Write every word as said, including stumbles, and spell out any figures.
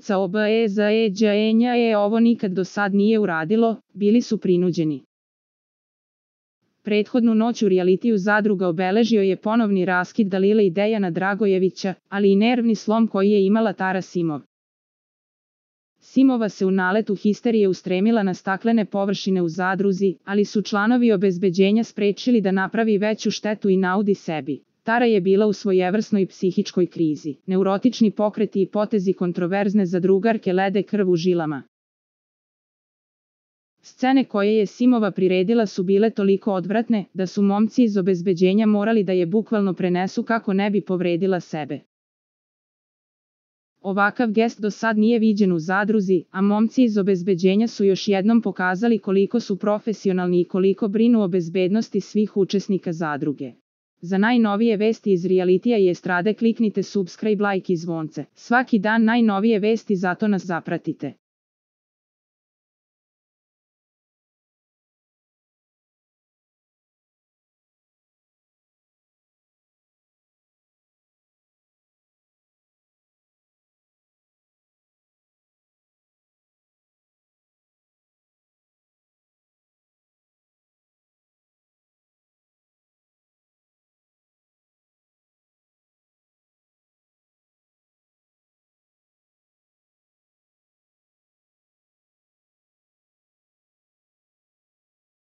Ivica Obezaeđaenja je ovo nikad do sad nije uradilo, bili su prinuđeni. Prethodnu noć u realitiju Zadruga obeležio je ponovni raskid Dalile i Dejana Dragojevića, ali i nervni slom koji je imala Tara Simov. Simova se u naletu histerije ustremila na staklene površine u Zadruzi, ali su članovi obezbeđenja sprečili da napravi veću štetu i naudi sebi. Tara je bila u svojevrsnoj psihičkoj krizi. Neurotični pokreti i potezi kontroverzne zadrugarke lede krv u žilama. Scene koje je Simova priredila su bile toliko odvratne, da su momci iz obezbeđenja morali da je bukvalno prenesu kako ne bi povredila sebe. Ovakav gest do sad nije viđen u Zadruzi, a momci iz obezbeđenja su još jednom pokazali koliko su profesionalni i koliko brinu o bezbednosti svih učesnika Zadruge. Za najnovije vesti iz realitija i estrade kliknite subscribe, like i zvonce. Svaki dan najnovije vesti, zato nas zapratite.